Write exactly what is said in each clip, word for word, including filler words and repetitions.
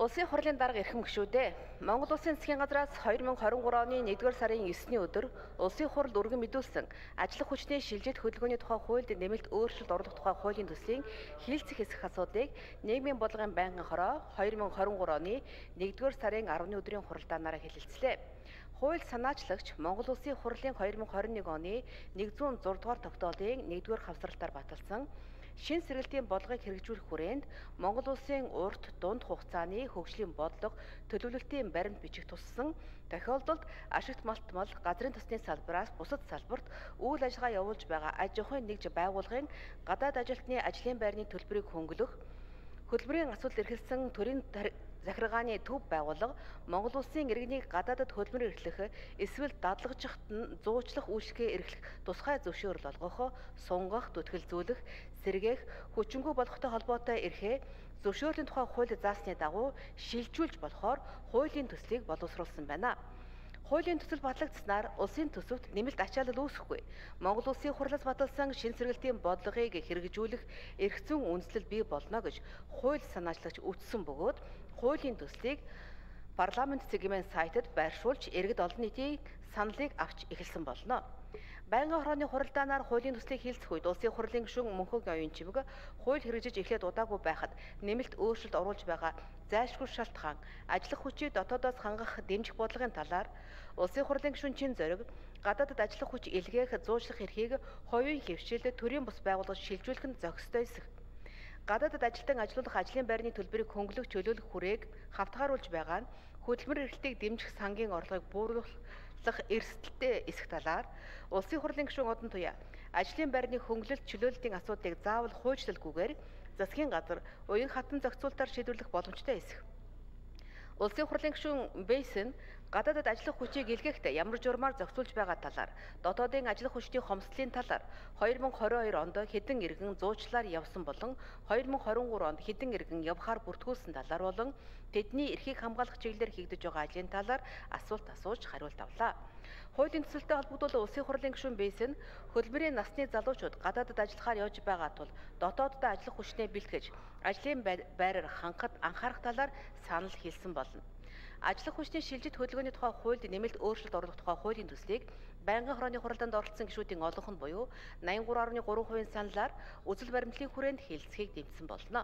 Улсын хурлын дарга эрхэм гишүүдээ Монгол Улсын засгийн газраас хоёр мың хорин гурав оны нэгдүгээр сарын есний өдөр Улсын хурл өргөн мэдүүлсэн ажиллах хүчний шилжилт хөдөлгөөний тухай хуульд нэмэлт өөрчлөлт оруулах тухай хуулийн төслийн хийлцэх хэсэх асуудлыг нийгмийн бодлогын байнгын хороо хоёр мың хорин гурав оны нэгдүгээр сарын арваны өдрийн хуралдаанаараа хэлэлцлээ. Хууль санаачлагч Монгол Улсын хурлын хоёр мың хорин нэг оны нэгдүгээр зураг дугаар тогтоолын нэгдүгээр хавсралтаар баталсан шин сэргэлтийн бодлогыг хэрэгжүүлэх хүрээнд Монгол Улсын урт дунд хугацааны хөгжлийн бодлого төлөвлөлтийн баримт бичих туссан тохиолдолд ашигт малтмал газрын тосны салбараас бусад салбарт үйл ажиллагаа явуулж байгаа аж ахуйн нэгж байгууллагын гадаад ажилтны ажлын байрны төлбөрийг хөнгөлөх хөдөлмөрийн асуудал эрхэлсэн төрийн захиргааны төв байгууллага Монгол Улсын иргэнийг гадаадад хөдөлмөр эрхлэх эсвэл дадлагжихт нь зуучлах үйлчлэгээ эрхлэх тусгай зөвшөөрөл олгох, сунгах, түтгэлзүүлэх, сэргээх, хүчингүй болгохтой холбоотой эрхээ зөвшөөрлийн тухай хууль заасны дагуу шилжүүлж болохоор хуулийн төслийг боловсруулсан байна. Хуулийн төсөл батлагдсанаар улсын төсөвт нэмэлт ачаалал үүсэхгүй. Монгол Улсын хурлаас баталсан шин сэргэлтийн бодлогыг хэрэгжүүлэх эрх зүйн үндэслэл бий болно гэж хууль санаачлагч үздсэн бөгөөд хуулийн төслийг парламент цэгийн сайтад байршуулж иргэд олон нийтийн саналыг авч эхэлсэн болно. Байнгын хорооны хуралдаанаар хуулийн төслийг хийлцэх үед улсын хурлын гишүүн Мөнхөг оюун чимэг хууль хэрэгжиж эхлээд удаагүй байхад нэмэлт өөрчлөлт оруулж байгаа зайлшгүй шалтгаан ажиллах хүчийг дотоодоос хангах дэмжих бодлогын талаар улсын хурлын гишүүн Чин Зориг гадаадад ажиллах хүч илгээх зуучлах эрхийг хувийн хэвшилд төрийн бус байгууллагад шилжүүлэх нь зохистой эсэх. Гадаадад ажилтан ажилуулах ажлын байрны төлбөрийг хөнгөлөх чөлөөлөх хүрээг хавтгааруулж байгаа нь хөдөлмөр эрхлэлтийг дэмжих сангийн орлогыг бууруулах эрсдэлтэй эсэх талаар улсын хурлын гишүүн Одон Туяа ажлын байрны хөнгөлөлт чөлөөлтийн асуудлыг заавал хуульчлалгүйгээр засгийн газар уян хатан зохицуултаар шийдвэрлэх боломжтой эсэх. Улсын хурлын гишүүн Бейсэн гадаадад ажиллах хүчийг илгээхдээ ямар журмаар зохицуулж байгаа талаар, дотоодын ажиллах хүчний хомсдлын талаар хоёр мың хорин хоёр онд хэдэн иргэн зуучлаар явсан болон хоёр мың хорин гурав онд хэдэн иргэн явхаар бүртгүүлсэн талаар болон тэдний эрхийг хамгаалах чиглэлээр хийгдэж байгаа ажлын талаар асуулт асууж хариулт авлаа. Хуулийн төсөлтэй холбогдуулан улсын хурлын гишүүн Бейсэн хөдөлмөрийн насны залуучууд гадаадад ажиллахаар явж байгаа тул дотооддоо ажиллах хүчнээ бэлтгэж ажлын байраар хангахад анхаарах талаар санал хэлсэн болно. Ажиллах хүчний шилжилт хөдөлгөөний тухай хуульд нэмэлт өөрчлөлт оруулах тухай хуулийн төслийг байнгын хорооны хуралдаанд оролцсон гишүүдийн олонх нь буюу найман гурав гаруй гурван хувийн саналаар үзэл баримтлалын хүрээнд хэлцэхийг дэмжсэн болно.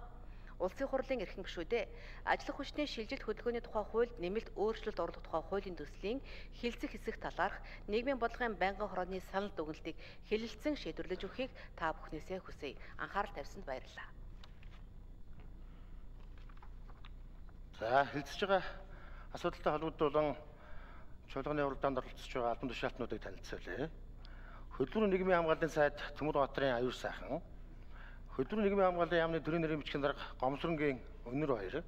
Улсын хурлын эрхэм гишүүдээ ажиллах хүчний шилжилт хөдөлгөөний тухай хуульд нэмэлт өөрчлөлт оруулах тухай хуулийн төслийн хэлцэх хэсэг талаарх нийгмийн бодлогын байнгын хорооны санал дүгнэлтийг хэлэлцэн шийдвэрлэж өгөхийг та бүхнээсээ хүсье. Анхаарал тавьсанд баярлалаа. За хэлцэж байгаа асуудалтай холбогдуулан чуулганы уралдаанд оролцож байгаа албан тушаалтнуудыг танилцуулъя. Хөдөлмөр нийгмийн хамгааллын сайд Төмөр Батрын аюул сайхан, Хөдөлмөр нийгмийн хамгааллын яамны төрийн нэрийн бичгийн дарга Гомсронгийн Өнөр баяр,